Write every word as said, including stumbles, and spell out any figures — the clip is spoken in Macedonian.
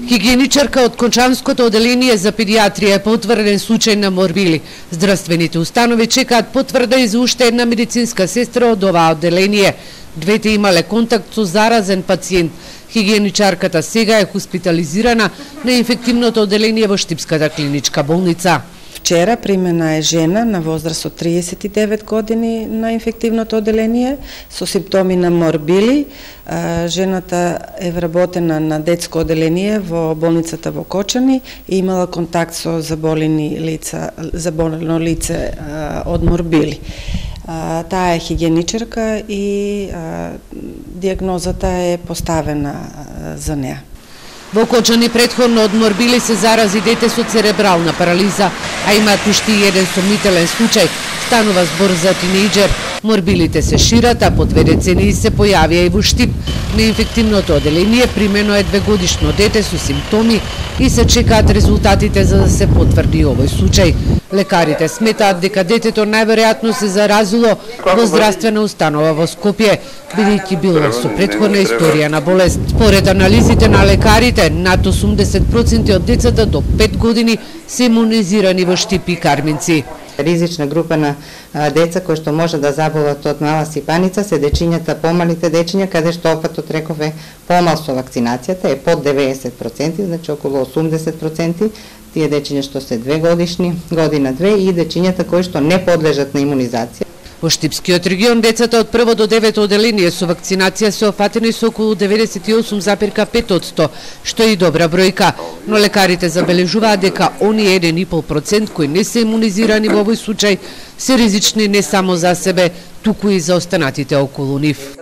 Хигиеничарка од Кончанското оделение за педиатрија е потврден случај на морбили. Здравствените установи чекаат потврда и за уште една медицинска сестра од оваа оделение. Двете имале контакт со заразен пациент. Хигиеничарката сега е хоспитализирана на инфективното оделение во Штипската клиничка болница. Вчера примена е жена на возраст од триесет и девет години на инфективното оделение со симптоми на морбили. Жената е вработена на детско оделение во болницата во Кочани и имала контакт со заболени лица, заболено лице од морбили. Таа е хигиеничарка и диагнозата е поставена за неа. Во Кочани претходно од морбили се зарази дете со церебрална парализа, а имаат уште и еден сомнителен случај. Станува збор за тинејџер. Морбилите се шират, а по две децении се појавија и во Штип. На инфективното оделение примено е двегодишно дете со симптоми и се чекаат резултатите за да се потврди овој случај. Лекарите сметаат дека детето најверојатно се заразило во здравствена установа во Скопје, бидејќи било со претходна историја на болест. Според анализите на лекарите, над осумдесет проценти од децата до пет години се имунизирани во Штип и Карминци. Ризична група на деца кои што може да заболат од мала сипаница се дечињата, помалите дечиња, каде што опатот реков е помал со вакцинацијата, е под деветдесет проценти, значи околу осумдесет проценти, тие дечиња што се две годишни, година две и дечињата кои што не подлежат на имунизација. Во Штипскиот регион децата од прво до девето оделение со вакцинација се офатени со околу деветдесет и осум зарез пет одсто, што е и добра бројка, но лекарите забележуваат дека оние еден и пол процент кои не се имунизирани во овој случај се ризични не само за себе, туку и за останатите околу нив.